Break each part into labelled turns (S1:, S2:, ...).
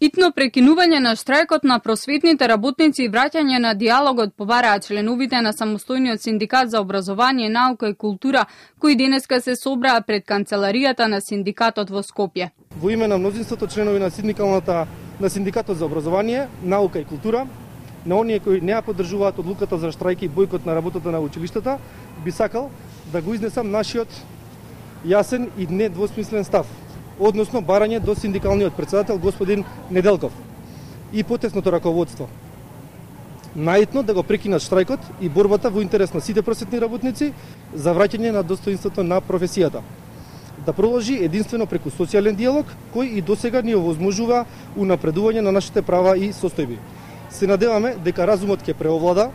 S1: Итно прекинување на штрајкот на просветните работници и враќање на диалогот побараат членовите на самостојниот синдикат за образование, наука и култура, кои денеска се собраа пред канцеларијата на синдикатот во Скопје.
S2: Во име на мнозинството членови на синдикатот за образование, наука и култура, на оние кои не ја поддржуваат одлуката за штрајки и бојкот на работата на училиштата, би сакал да го изнесам нашиот јасен и недвосмислен став, односно барање до синдикалниот председател господин Неделков и потесното раководство. Наитно да го прекинат штрајкот и борбата во интерес на сите просветни работници за враќање на достоинството на професијата. Да продолжи единствено преку социјален диалог, кој и досега ни овозможува унапредување на нашите права и состојби. Се надеваме дека разумот ќе преовлада,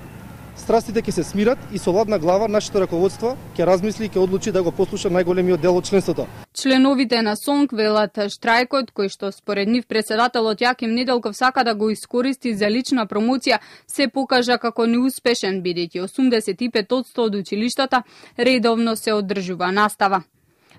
S2: страстите ќе се смират и со ладна глава нашето раководство ќе размисли и ќе одлучи да го послуша најголемиот дел од членството.
S1: Членовите на СОНК велат штрајкот, кој што според нив председателот Јаким Неделков сака да го искористи за лична промоција, се покажа како неуспешен, бидејќи 85% од училиштата редовно се одржува настава.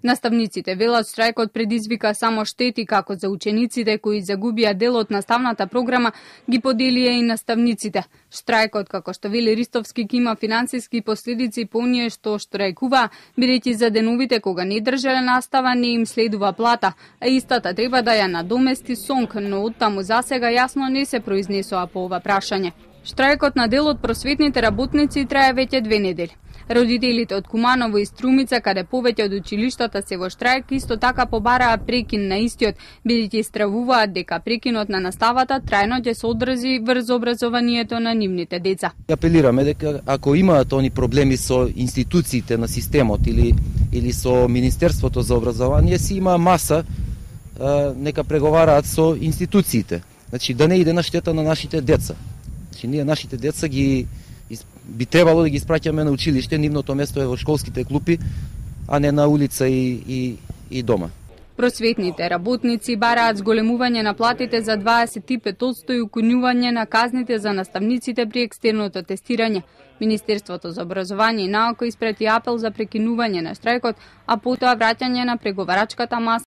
S1: Наставниците велат штрајкот предизвика само штети како за учениците кои загубија дел од наставната програма, ги поделија и наставниците. Штрајкот, како што вели Ристовски, ќе има финансиски последици по оние што штрајкува, бидејќи за деновите кога не држеле настава не им следува плата, а истата треба да ја надомести СОНК, но оттаму засега јасно не се произнесоа по ова прашање. Штрајкот на дел од просветните работници трае веќе 2 недели. Родителите од Куманово и Струмица, каде повеќе од училиштата се во штрајк, исто така побараа прекин на истиот, бидејќи стравуваат дека прекинот на наставата трајно ќе се одрази врз образованието на нивните деца.
S3: Апелираме дека ако имаат они проблеми со институциите на системот или со Министерството за образование, си има маса, нека преговараат со институциите. Значи да не иде на штета на нашите деца. Значи ние нашите деца би требало да ги испраќаме на училиште, нивното место е во школските клупи, а не на улица и дома.
S1: Просветните работници бараат зголемување на платите за 25% и укинување на казните за наставниците при екстерното тестирање. Министерството за образование и наука испрати апел за прекинување на штрајкот, а потоа враќање на преговарачката маса